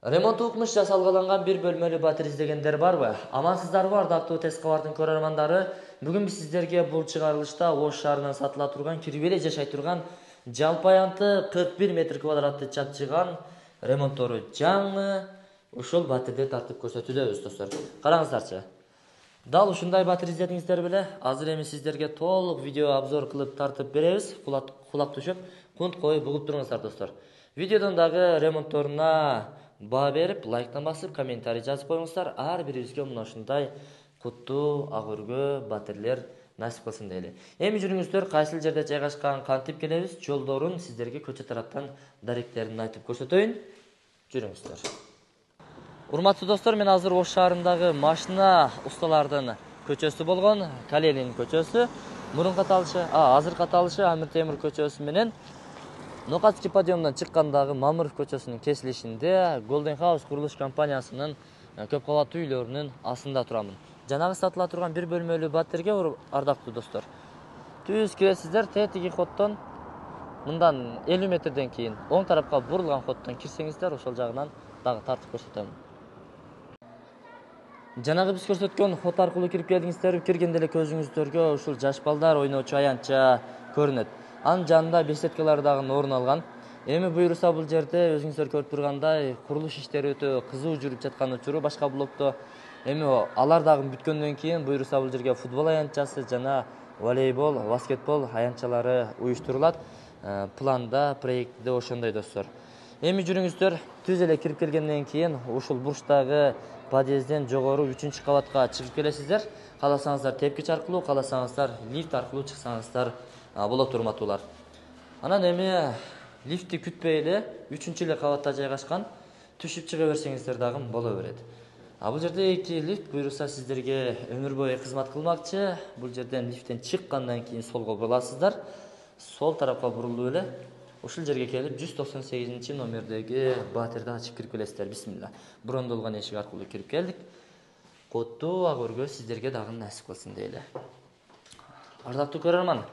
Ремонт укмуш жасалгаланган бир бөлмөлүү батир издегендер барбы? Амансыздарбы ардактуу Тескабардын көрөрмандары? Бүгүн биз сиздерге бул чыгарылышта Ош шаарынан сатыла турган, кирбеле жашай турган жалпы аянты 41 метр квадратты чапчыган ремонттору жаңы ушул батирди тартып көрсөтүүдөбүз достор. Караңыздарчы. Дал ушундай батир издедиңиздер беле? Азыр эми сиздерге толук видео обзор кылып тартып беребиз. Кулак түшүп, кунт коюп угуп туруңуздар достор. Видеодон дагы ремонтторуна баа берип, лайктан басып, комментарий жазып коюңуздар. Ар бирибизге мына ушундай куттуу, ак өргө батирлер насип кылсын дейли. Эми жүрүңүздөр, кайсыл жерде жайгашкан, кантип келебиз, жолдорун сиздерге көчө тараптан даректерин айтып көрсөтөйүн. Жүрүңүздөр. Урматтуу достор, мен азыр Ош шаарындагы машина усталардын көчөсү болгон Калелин көчөсү, мурунку аталышы, азыркы аталышы Амир Темир көчөсү менен Нокатский подъемдан чыккандагы Мамыров көчөсүнүн кесилишинде Golden House курулуш компаниясынын көп кабаттуу үйлөрүнүн астында турамын. Жанагы сатыла турган бир бөлмөлүү батирге ардактуу достор, түз киресиздер, тетиги хоттон мындан 50 метрден кийин оң тарапка бурулган хоттон кирсеңиздер, ошол жагынан дагы тартып көрсөтөм. Жанагы биз көрсөткөн хот аркылуу кирип келдиңиздер, киргенде эле көзүңүздөргө ушул жаш балдар ойночу аянтча көрүнөт. Анын жанында беседкалар дагы орун алган. Эми буюрса бул жерде өзүңүздөр көрүп тургандай курулуш иштери өтө кызуу жүрүп жаткан учуру башка блокто. Эми алар дагы бүткөндөн кийин буюрса бул жерге футбол аянтчасы жана волейбол, баскетбол аянтчалары уюштурулат. Планда, проектиде ошондой достор. Эми жүрүңүздөр, түз эле кирип келгенден кийин ушул бурчтагы подъезден жогору 3-кабатка чыгып келесиздер. Кааласаңыздар тепкич аркылуу, кааласаңыздар лифт аркылуу чыксаңыздар болот урматтуулар. Анан эми лифтти күтпөй эле 3-эле кабатта жайгашкан, түшүп чыга берсеңиздер дагы боло берет. Бул жерде 2 лифт буюрса сиздерге өмүр бою кызмат кылмакчы. Бул жерден лифттен чыккандан кийин солго буруласыздар. Сол тарапка бурулуп эле ушул жерге келип 198 номердеги батирди ачып кирип келесиздер. Бисмилла. Брондолгон эшик аркылуу кирип келдик. Куттуу ак өргө сиздерге дагы насип кылсын дейли. Ардактуу көрөрман,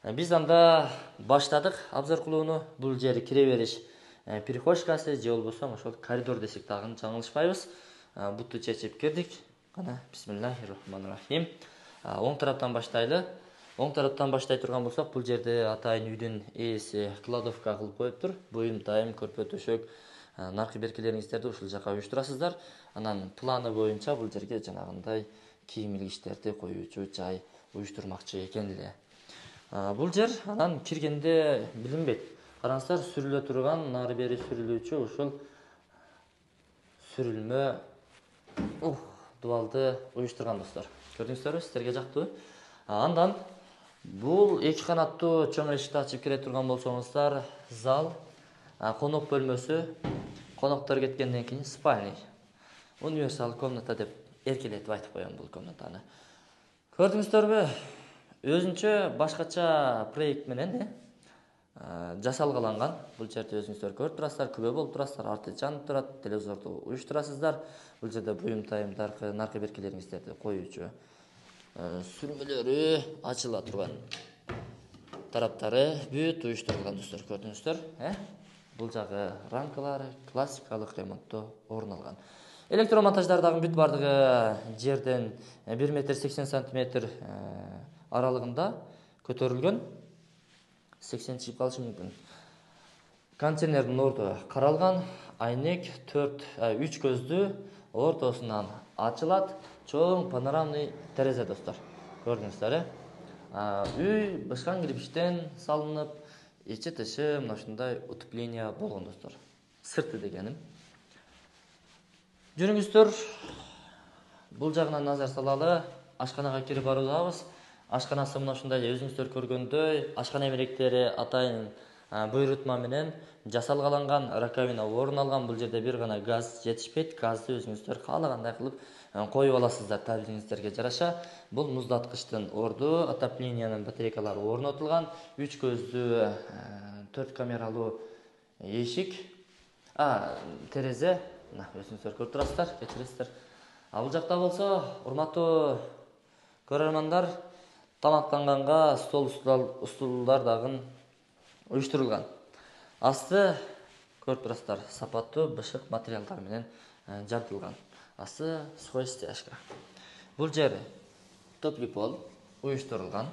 биз анда баштадык обзор кылууну. Бул жери кире бериш перехожкасы же болбосо ошол коридор десек дагы жаңылышпайбыз. Бутты чечип кирдик. Кана бисмиллахир-рахманир-рахим. Оң тараптан баштайлы. Оң тараптан баштай турган болсок, бул жерде атайын үйдүн ээси кладовка кылып коюптур. Буюм, тайым, көрпө төшөк, наркы беркелериңиздерди ушул жака уюштурасыздар. Анан планы боюнча бул жерге жанагындай кийим илгичтерди коюучу жай уюштурмакчы экен эле. Бул жер анан киргенде билинбейт. Караңыздар, сүрүлө турган, нары бери сүрүлүүчү ушул сүрүлмө дубалды уюштурган достор. Көрдүңүздөрбү, сиздерге жактуу. Андан бул 2 канаттуу чоң эшикти ачып кире турган болсоңуздар, зал, конок бөлмөсү, коноктор кеткенден кийин спальня. Универсал комната деп эркелетип айтып коем бул комнатаны. Көрдүңүздөрбү? Өзүнчө башкача проект менен жасалгаланган. Бул жерде өзүңүздөр көрүп турасыздар, күбө болуп турасыздар, арты жанып турат, телевизорду уюштурасыздар. Бул жерде буюм, тайымдар, наркы беркелериңиздерди коюучу сүрмөлөрү ачыла турган тараптары бүт уюштурулган достор. Көрдүңүздөр, бул жагы рамкалары классикалык ремонтто орун алган. Электромонтаждар дагы бүт бардыгы жерден 1,80 метр аралыгында көтөрүлгөн. 80 чыгып калышы мүмкүн. Контейнердин орду каралган, айнек 3 көздүү, ортосунан ачылат, чоң панорамный терезе достор. Көрдүңүздөр, үй бышкан кирпичтен салынып, ичи тышы мына ушундай утепление болгон достор. Сырты дегеним. Жүрүңүздөр, бул жагынан назар салалы. Ашканага кирип баруудабыз. Ашканасы мына ушундай өзүңүздөр көргөндөй, ашкана эмелектери атайын буйрутма менен жасалгаланган, раковина орун алган. Бул жерде бир гана газ жетишпейт. Газды өзүңүздөр каалагандай кылып коюп аласыздар табигиңиздерге жараша. Бул муздаткычтын орду, отопленияның батарейкалары орнотулган, 3 көздүү 4 камералуу эшик, терезе, өзүңүздөр көрүп турасыздар, кечиресиздер. Бул жакта болсо, урматтуу көрөрмандар, тамактанганга стол устулдар дагы уюштурулган. Асты корпустар сапаттуу бышык материалдар менен жабдылган. Асты сухой стяжка. Бул жер топли пол уюштурулган.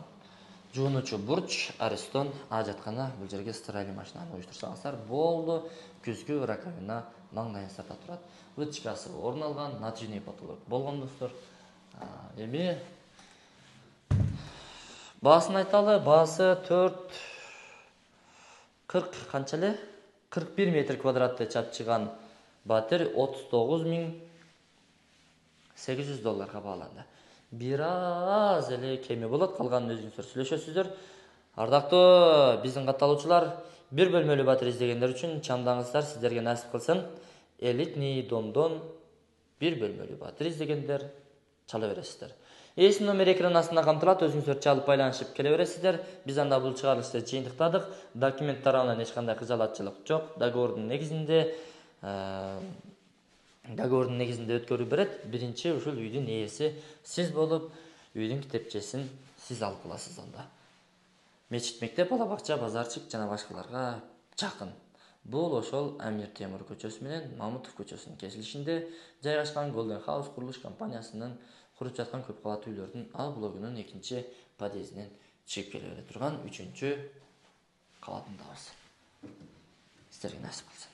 Жуунучу бурч, аристон, ажаткана, бул жерге стиральный машинаны уюштурсаңыздар болду. Күзгү раковина маңдайыңыздарда турат. Вытяжкасы орун алган, натяжный потолок болгон достор. Эми баасын айталы. Баасы 40 канча эле? 41 метр квадратты чапчыган батир $39,800 бааланды. Бир аз эле кеми болот, калганын өзүңүздөр сүйлөшөсүздөр. Ардактуу биздин катталуучулар, бир бөлмөлүү батир издегендер үчүн чамдаңыздар, сиздерге насип кылсын. Элитный домдон бир бөлмөлүү батир издегендер чала бересиздер. Эсин номер экран астында камтылат, өзүңүздөр чалып байланышып келе бересиздер. Биз анда бул чыгарылышты жыйынтыктадык. Документ тарабынан эч кандай кыжалатчылык жок. Договордун негизинде өткөрүп берет. Биринчи ушул үйдүн ээси сиз болуп, үйдүн китепчесин сиз алып аласыз анда. Мечит, мектеп, бала бакча, базарчык жана башкаларга жакын. Бул ошол Амир Темур көчөсү менен Мамутов көчөсүнүн кесилишинде жайгашкан Golden House курулуш компаниясынын куруп жаткан көп кабаттуу үйлөрдүн А блогунун 2 подъездинен чыгып келе турган 3 кабатындабыз. Сиздерге насип кылсын.